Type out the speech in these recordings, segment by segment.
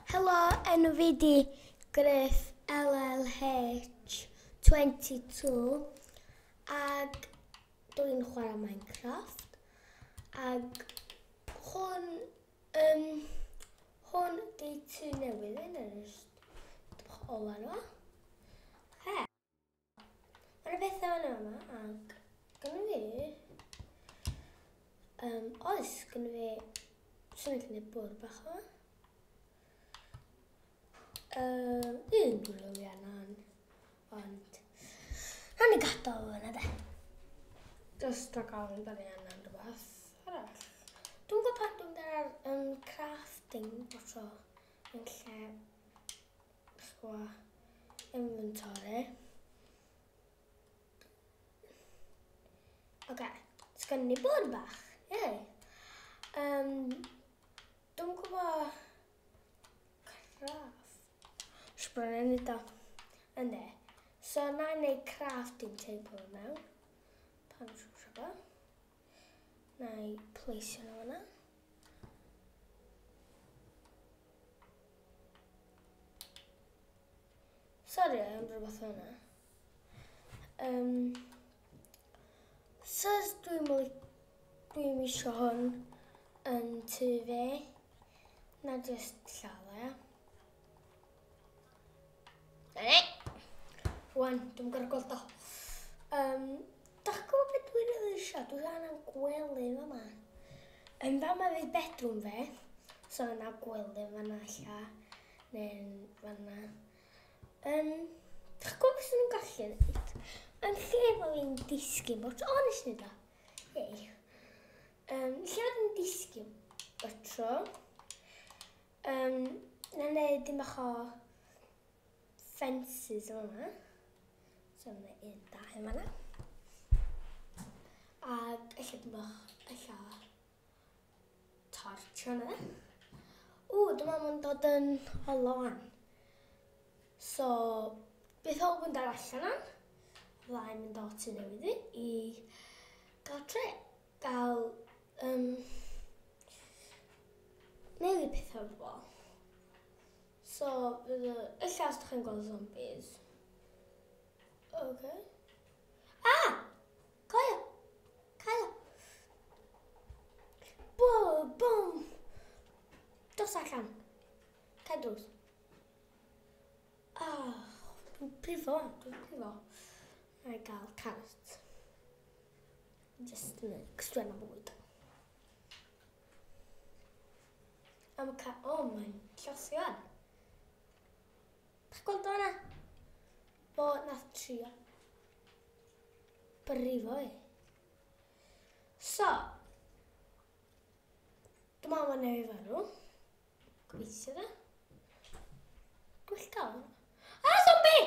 Helo, enw fi di Griff LLH22 ac dwi'n chwarae Minecraft ac hwn hwn di tŷ newydd yn yr bach ola nhw. He. Mae yna pethau yna yma ac gynnu fi oes gynnu fi swn i'n gwneud bwrdd bach yma. Un dwi'n rili angen, ond nawn ni gadael o fyna de. Just rhag ofn da ni angen rhywbeth arall. Dwi'n gwybod pan dwi'n mynd ar crafting o tro yn lle chwa inventory. Oce, sgynny ni bwrdd bach. Yay. Dwi'n gwybod craft. Sbron yn neud o. Ynddi. So na i neud crafting table mewn. Pan siwsio fo. Na i place nhw yna. Sorry am rhywbeth yna. So dwi'n isio hwn yn tŷ fi. Na just lladd e. Na ni. Rwan, dwi'n gorau gweld o. Dach chi'n gwybod beth dwi'n rili isio? Dwi'n angen gwely fama. Yn fama fydd bedroom fi. So yna gwely fanna ella. Neu'n fanna. Dach chi'n gwybod beth nhw'n gallu neud? Yn lle fo fi'n disgyn bot. O, nes i neud o. Yay. Lle fo fi'n disgyn bot tro. Na neud dim bach o fences yma. So yna un, dau yma na. Ac ella dim bach, ella torch yna. O, dwi'n meddwl mae'n dod yn olon. So, beth o'n mynd ar allan yna? Fydda i'n mynd o tŷ newydd fi i gael tre, gael newid pethau o'r bobl. So, fydd y, ella os ydych chi'n gweld zombies. Okay. Ah! Cael! Cael! Boom! Boom! Dos allan. Cael drws. Ah, dwi'n prifo, dwi'n prifo. Na i gael carrot. Just yn cos dwi'n am bwyd. Am y ca... O, mae'n llosgi fan. Dach gweld o yna? Bo nath trio brifo fi. So, dwi'n meddwl mae'n newid farw. Gobeithio da. Gwell gael. Ah, zombie!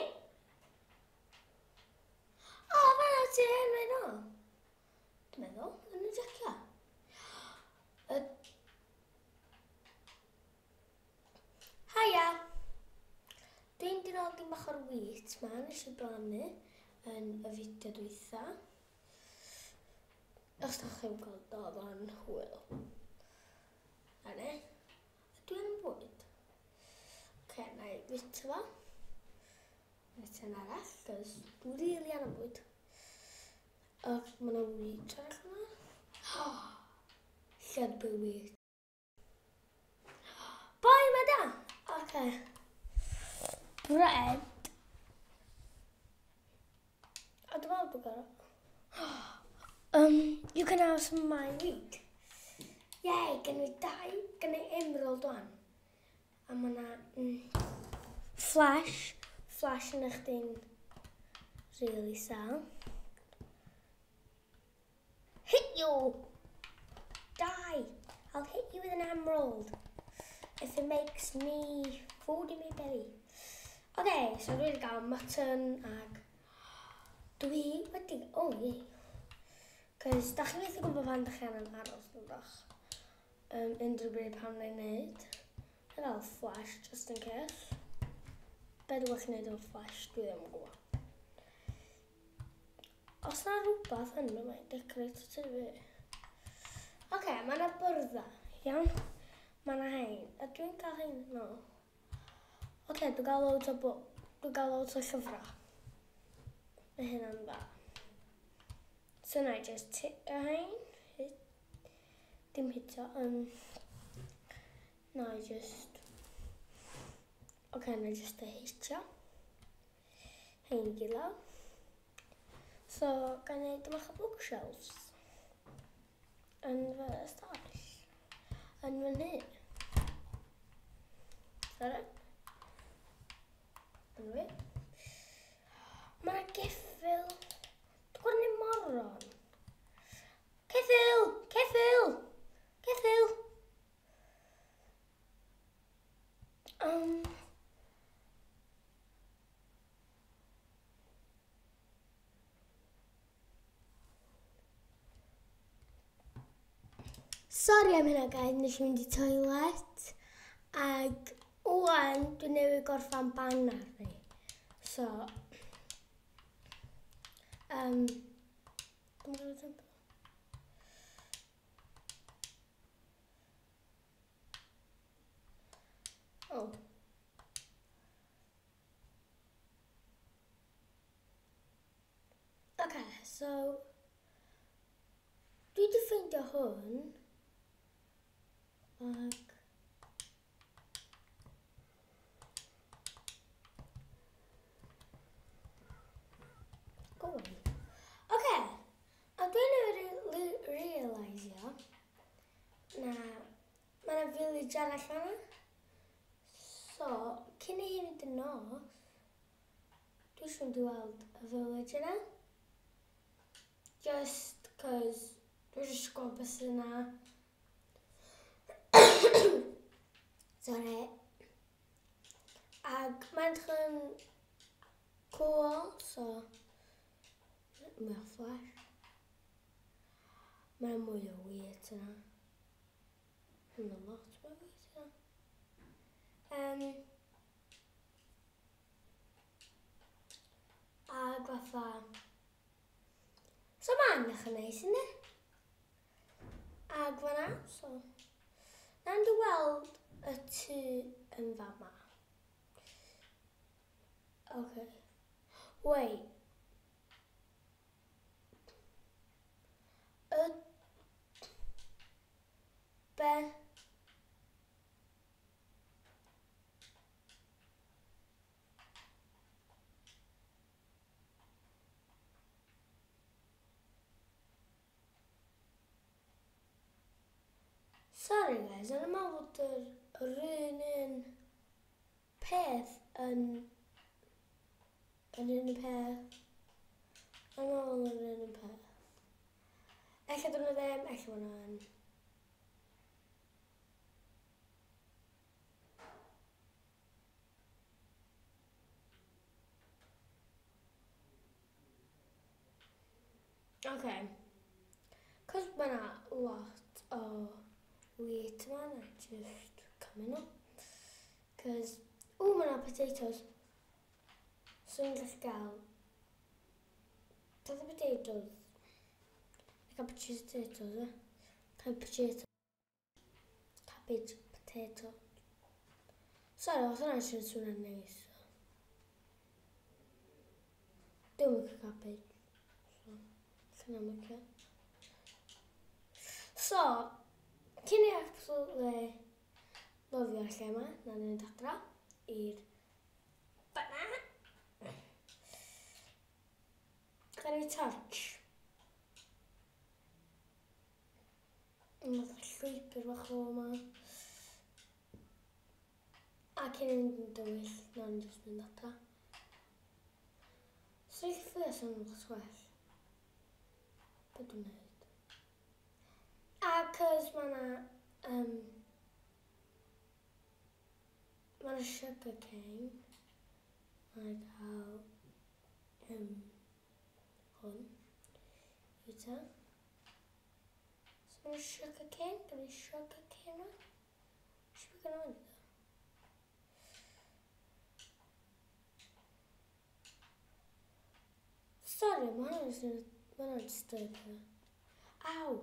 O, fan'na ti yn mynd o. Dwi'n meddwl, yn y jacio. Haia! Dwi'n di nôl dim bach o'r wheat ma, nes i blannu yn y fideo dwytha. Os da chi'n gweld o, oedd o'n hwyl. A ne, dwi yn bwyd. Oce, na i fita fo. Fita yn arall, cos dwi'n rili angen bwyd. Ac mae yna wheat arall yma. Lled bwy wheat. Boi, mae da! Oce. Bread. A dwi'n meddwl bod gorau. You can have some of my wheat. Yay, gen i dau, gen i emerald one. A mae yna flash. Flash yn eich di'n really sal. Hit you! Die! I'll hit you with an emerald. If it makes me food in my belly. Okay, so dwi wedi gael mutton ag dwi wedi... Oh, yeah. Cos da chi methu gwybod pan da chi angen aros yn bach. Unrhyw bryd pan wna i wneud. Na gael flash, just in case. Be dwi'n gallu gwneud efo flash, dwi ddim yn gwybod. Os na rhywbeth yn yma, decorate tŷ fi. Oce, mae yna byrddau, iawn? Mae yna hein. A dwi'n cael hein? No. Oce, dwi'n gael loads o dwi'n gael loads o llyfrau. Mae hynna'n dda. So na i just hit y hein. Hit. Dim hito. Na i just... Oce, na i just y hitio. Hein i gyd lawr. So, gan i dymach o bookshelves. Yn fy ystafell. Yn fy nhŷ. Sorry. Yn fi. Mae yna geffyl. Dwi'n gweld ni moron. Ceffyl! Ceffyl! Ceffyl! Sorry am hynna guys, nes i mynd i toilet. Ag wan, dwi'n newydd gorffan banner fi. So, dwi'n gwybod tempo. Oh. Okay, so, dwi wedi ffeindio hwn, ac go on. Okay, a dwi'n realisio na mae yna village arall fan'na. So, cyn i hi fynd yn nos, dwi eisiau mynd i weld y village yna. Just cos dwi eisiau gweld beth sydd yna. Sorry. Ac mae'n edrych yn cool, so mwy o flash. Mae'n mwy o wheat yna. Mae'n a lot mwy o wheat yna. Ag fatha... So mae'n edrych yn neis, ynddi? Ag fan'na, so... Na'n dy weld y tŷ yn fama. Okay. Wait. Y... Be? Sorry guys, o'n i'n meddwl bod yr un peth yn yr un peth. Yn ôl yr un peth. Ella dyn nhw ddim, ella maen nhw yn. Okay. Cos mae yna lot o wheat yma, na just coming up. Cos, o, mae yna potatoes. So ni'n gallu gael Doedd y potatoes. I cael potatoes, eh? Cael potato. Cabbage, potato. Sorry, oedd hwnna'n siarad swnio'n neis. Dwi'n licio cabbage. So, allan o'n licio. So, cyn i absolutely lyfio'r lle yma, na ni'n mynd adra i'r fan'na. Gael ei torch. Mae'n llwybr bach o yma. A cyn i fynd yn dywyll, na ni'n just mynd adra. So i ffio sy'n lot well. Be dwi'n neud? A cos mae na mae na sugar cane. Mae'n cael hwn. I ta. So mae'n sugar cane. Gan i sugar cane yma. Sugar cane yma. Sorry, mae hwnna'n disturbio. Aw!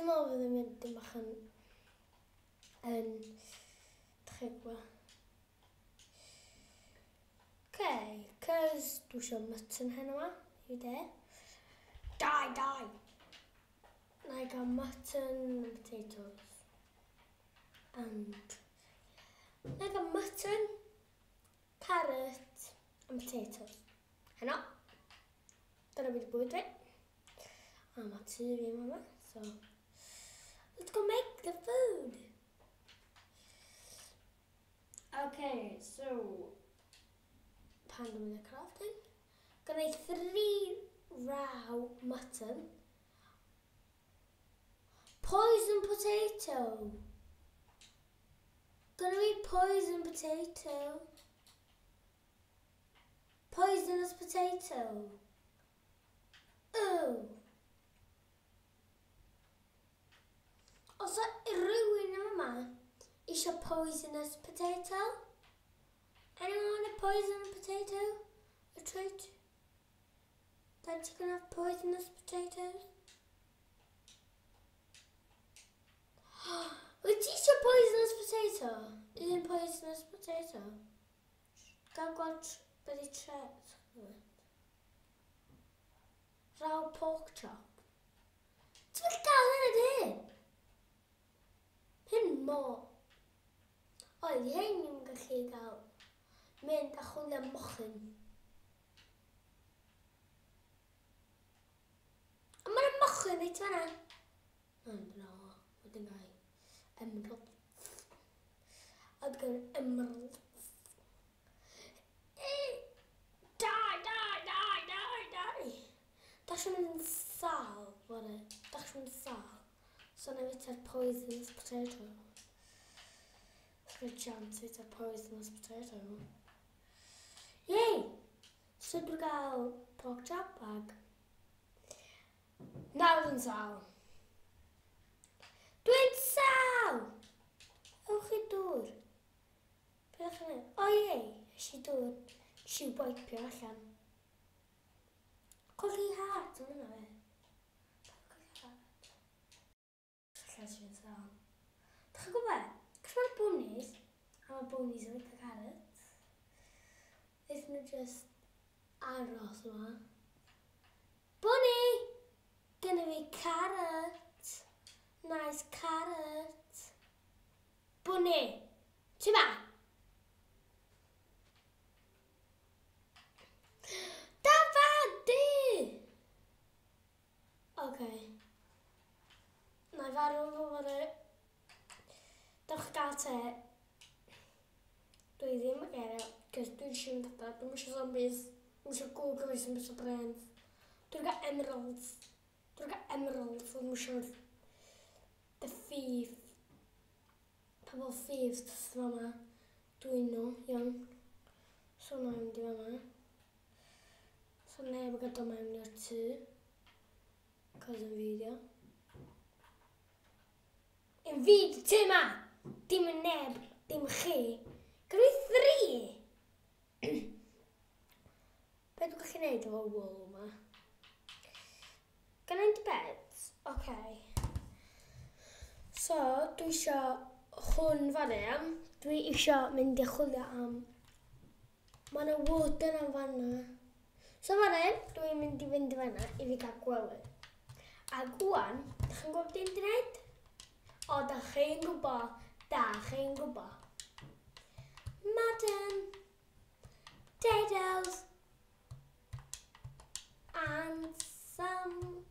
Dwi'n meddwl fydd yn mynd dim bach yn dych chi'n gwybod. Okay, cos dwi eisiau mutton heno yma, i de. Die, die! Na i gael mutton and potatoes. And na i gael mutton, carrot and potatoes. Heno. Dyna beth bwyd fi. A mae tŷ fi yma, so let's go make the food. Okay, so pan dwi'n mynd i crafting, gynna i 3 raw mutton, poison potato. Gynna fi poison potato. Poisonous potato. Oh. Os o rhywun yma eisiau poisonous potato? Anyone want a poisonous potato? A treat? That you can have poisonous potatoes? Wyt ti eisiau poisonous potato? Un poisonous potato? Gael gweld beth i tre... Raw pork chop. Ti'n mynd gael hynny dy hyn? Hyn mor. Oedd hyn ni'n gallu gael mynd a chwilio am mochyn. Ond mae'n mochyn reit fan'na. Na, dyna o. Wedyn gael emerald. A dwi'n gael emerald. Die, die, die, die, die. Da chi'n mynd yn sâl, fory. Da chi'n mynd yn sâl. So na i fyta'r poisonous potato. Good chance it's a poisonous potato. Yay! So dwi'n gael pork chop bag. Nawr yn sâl. Dwi'n sâl! Ewch i dŵr. Beth ydych chi'n neud? O ie, es i dŵr. Nes i wipio allan. Colli heart yn hwnna fe. Colli heart. Allan sy'n sâl. Dych chi'n gwybod? Cos mae'r bunnies, a mae bunnies yn licio carrots. Wnaethon nhw just aros yma. Bunny! Gynna fi carrot. Nice carrot. Bunny! Ti ma? Dafad di! Okay. Na i farw fo fory. Dewch gael te. Dwi ddim yn gael, cos dwi eisiau mynd adra. Dwi'n eisiau zombies. Dwi'n eisiau googles, dwi'n eisiau brains. Dwi'n gael emeralds. Dwi'n gael emeralds, dwi'n eisiau the thief. Pobl thieves sydd fama. Dwi'n nhw, iawn. So na i mynd i fama. So neb yn gadael mewn i'r tŷ. Cos yn fideo. Yn fid tŷ ma! Dim yn neb, dim chi. Gyda fi 3! Be dwi'n gallu neud efo wool yma? Gan i'n bed? Okay. So, dwi isio hwn fan hyn. Dwi isio mynd i chwilio am... Mae yna wood yna fanna. So fan hyn, dwi'n mynd i fynd i fanna i fi gael gwely. A gwan, dach chi'n gwybod beth dwi'n gwneud? O, dach chi'n gwybod, dach chi'n gwybod. Mutton, potatoes, and some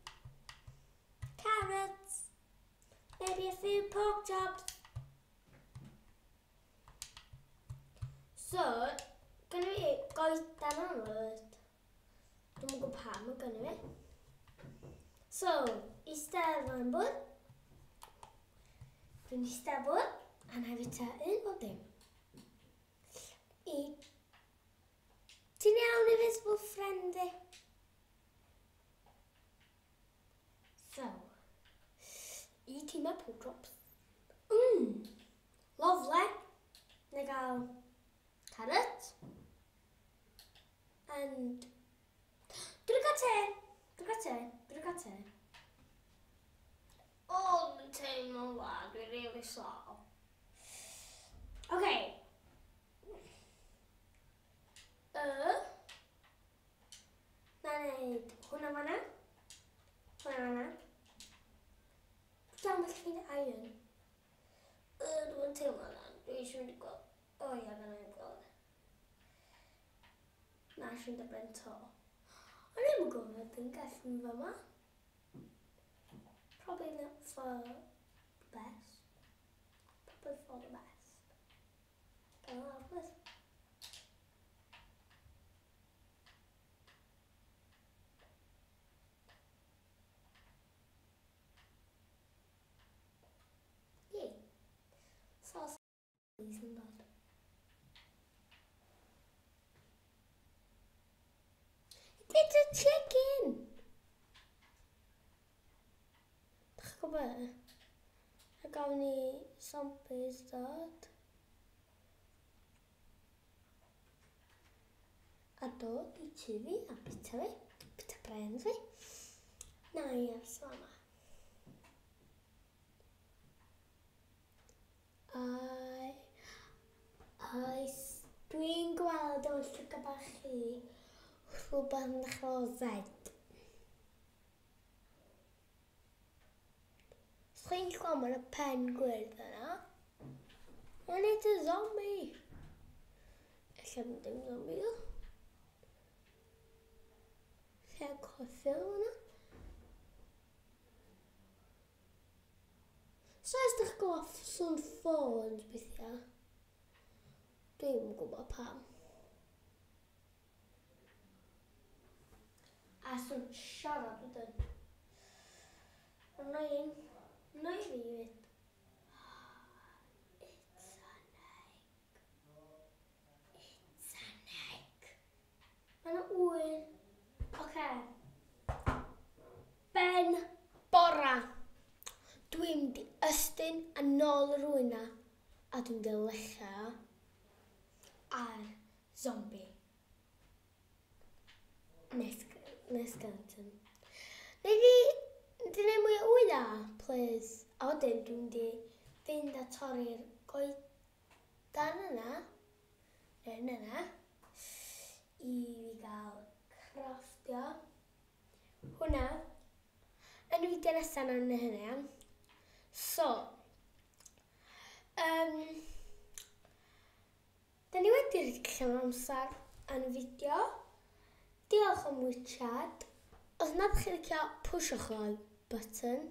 carrots, maybe a few pork chops. So, gynna fi goedan yma. Dwi'm yn gwybod pam mae gynna fi. So, eistedd fan bwrdd. Dwi'n eistedd bwrdd, a na i fyta un o dim. I... Ti'n iawn, invisible friend i? So, eating my pork chops. Lovely. Na gael carrot. And... Dwi'n gael te. Dwi'n gael te. Dwi'n gael te. Oh rhywle, dwi'n really sâl. Okay. Na wneud hwnna fanna. Hwnna fanna. Dal yn ffeindio iron. Dwi'n teimlo na. Dwi eisiau mynd i gweld. O ia, fanna i'n gweld. Na, eisiau mynd ar ben to. O'n i'm yn gwybod dwi'n gallu mynd fama. Probably not for the best. Probably for the best. Gael lawr, please. Yay. Sauce yn dod. It's a chicken! Dych chi'n gwybod? A gawn ni zombies dod. A dod i tŷ fi a bita fi. Bita brains fi. Na i ers fama. I, oes, dwi'n gweld o'n llygad bach chi rhywbeth yn dechrau o Z. Os chi'n gweld mae'n y pen gwyrdd yna, and it's a zombie. Ella ddim zombie o. Lle cofio yna. So os ydych chi'n gwybod sŵn ffôns bethau, dwi'n gwybod pam. A sŵn siarad wedyn. Annoying. Annoying fi hefyd. It's an egg. It's an egg. Mae yna ŵyn. Oce. Ben bora. Dwi'n mynd i ystyn a nôl yr ŵyn na. A dwi'n mynd i lecha ar zombie. Neu skeleton. Neu di gwneud mwy o wyna, please. A wedyn dwi'n mynd i fynd a torri'r goedan yna. Neu yna. I fi gael crafftio. Hwna. Yn y fideo nesaf nawn ni hynny, iawn. So, da ni wedi rhedeg llawn amser yn y fideo. Diolch am watchad. Os nad chi'n licio, pwsiwch like button.